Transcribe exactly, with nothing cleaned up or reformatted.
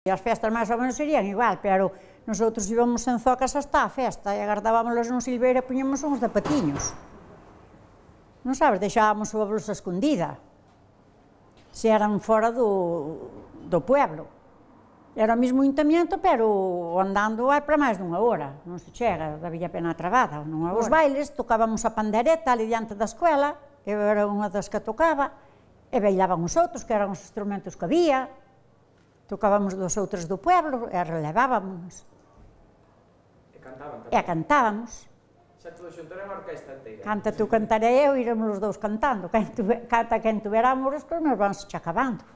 E as festas máis ou menos serían igual, pero nosotros íbamos en zocas hasta a festa e agardábamos nun silveiro e puñemos uns zapatiños. Non sabes, deixábamos a blusa escondida, se eran fora do, do pueblo. Era o mismo ayuntamiento, pero andando é para máis dunha hora, non se chega, da Villa Pena Trabada, nunha hora. Os bailes tocábamos a pandereta ali diante da escuela, eu era unha das que tocaba, e bailaban os outros, que eran os instrumentos que había, tocábamos dos outros do pueblo e relevábamos. E cantaban tamén? E cantábamos. Xa todo xunto era unha orquesta inteira? Canta tú, cantaré eu, iremos os dous cantando. Canta quen tuveramos, que os meus vans xa acabando.